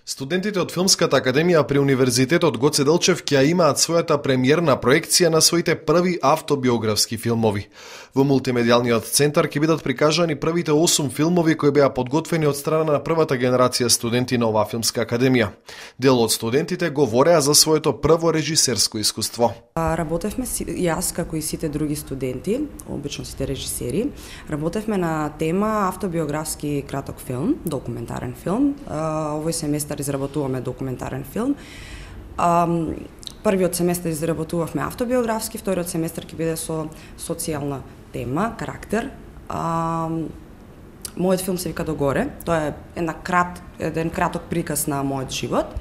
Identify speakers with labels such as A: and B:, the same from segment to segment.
A: Студентите од Филмската академија при Универзитетот Гоце Делчев ќе имаат својата премиерна проекција на своите први автобиографски филмови. Во мултимедијалниот центар ќе бидат прикажани првите 8 филмови кои беа подготвени од страна на првата генерација студенти на оваа Филмска академија. Дел од студентите говореа за своето прво режисерско искуство.
B: Работевме, јас како и сите други студенти, обично сите режисери, работевме на тема автобиографски краток филм, документарен филм. Овој семестар изработуваме документарен филм. Првиот семестар изработувавме автобиографски, вториот семестар ќе биде со социјална тема, карактер. Мојот филм се вика Догоре. Тоа е еден краток приказ на мојот живот.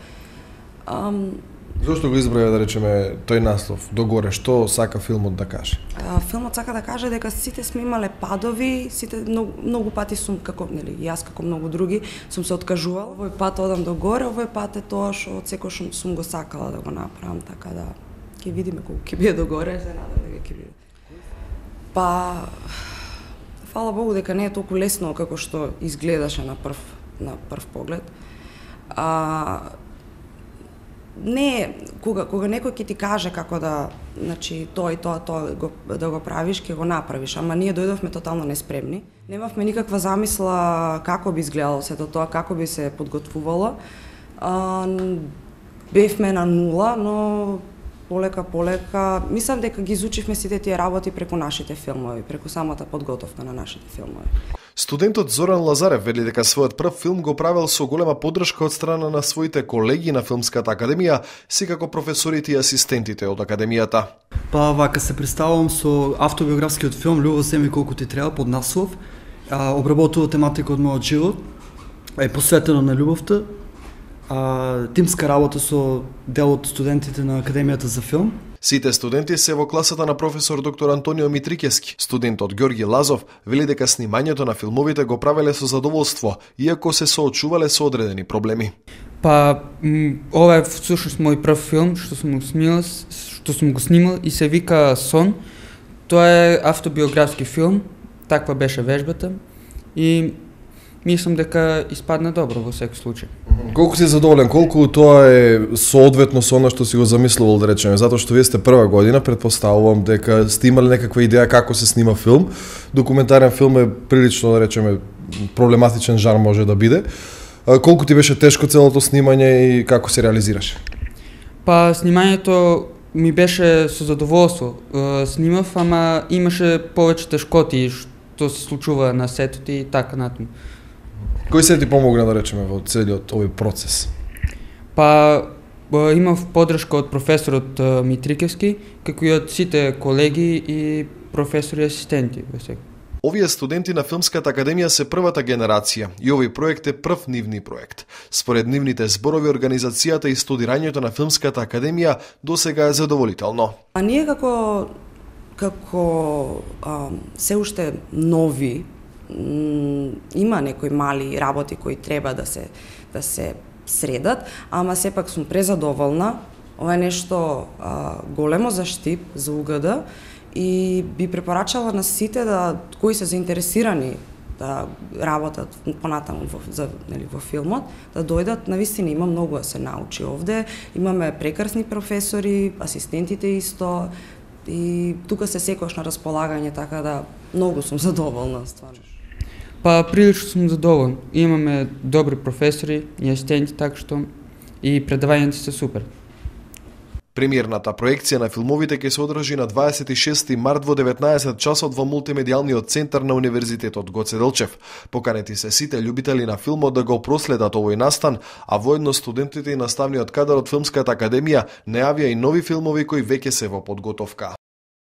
A: Зошто го избрав, да речеме, тој наслов, Догоре? Што сака филмот да каже?
B: Филмот сака да каже дека сите сме имале падови, сите многу пати сум, како, нели, јас како многу други, сум се откажувал. Овој пат одам до горе, овој пат е тоа што од секој сум го сакала да го направам, така да ќе видиме колку ќе биде до горе, се надам дека ќе биде. Па, фала Богу дека не е толку лесно како што изгледаше на прв поглед. Не, кога некој ќе ти каже како да, значи, тоа и тоа да го правиш, ќе го направиш, ама ние дојдовме тотално неспремни. Немавме никаква замисла како би изгледало сето тоа, како би се подготвувало. Бевме на нула, но полека, мислам дека ги изучивме сите тие работи преку нашите филмови, преку самата подготовка на нашите филмови.
A: Студентот Зоран Лазарев вели дека својот прв филм го правел со голема поддршка од страна на своите колеги на Филмската академија, секако професорите и асистентите од академијата.
C: Па вака се представувам со автобиографскиот филм Љубов земе колку ти треба под наслов. Обработува тематика од мојот живот, е посветено на љубовта. Тимска работа со дел од студентите на Академијата за филм.
A: Сите студенти се во класата на професор доктор Антонио Митрикевски. Студентот Ѓорги Лазов вели дека снимањето на филмовите го правеле со задоволство, иако се соочувале со одредени проблеми.
D: Па, ова е всушност мој прв филм што сум го снимал и се вика Сон. Тоа е автобиографски филм, таква беше вежбата и мислам дека испадна добро во секој случај.
A: Колку си задоволен, колку тоа е соодветно со она што си го замислувал, да речеме, затоа што вие сте прва година, предпоставувам дека сте имале некаква идеја како се снима филм. Документарен филм е прилично, да речеме, проблематичен жар може да биде. Колку ти беше тешко целото снимање и како се реализираше?
D: Па, снимањето ми беше со задоволство. Снимав, ама имаше повеќе тешкоти што се случува на сетот и така натаму.
A: Кој се ти помогна, да речеме, во целиот овој процес?
D: Па, имав поддршка од професорот Митрикевски, како и од сите колеги и професори и асистенти.
A: Овие студенти на Филмската академија се првата генерација и овој проект е прв нивни проект. Според нивните зборови, организацијата и студирањето на Филмската академија досега е задоволително.
B: А ние како се уште нови, има некои мали работи кои треба да се средат, ама сепак сум презадоволна. Ова е нешто големо за Штип, за УГД и би препорачала на сите кои се заинтересирани да работат понатаму во филмот, да дојдат. Навистина има многу да се научи овде. Имаме прекрасни професори, асистентите исто и тука се секогаш на располагање, така да многу сум задоволна стварно.
D: Па, прилично сум задоволен. Имаме добри професори и асистенти, така што и предавањата се супер.
A: Премиерната проекција на филмовите ќе се одржи на 26 март во 19 часот во мултимедијалниот центар на Универзитетот Гоце Делчев. Поканети се сите љубители на филмот да го проследат овој настан, а воедно студентите и наставниот кадар од Филмската академија најавија и нови филмови кои веќе се во подготовка.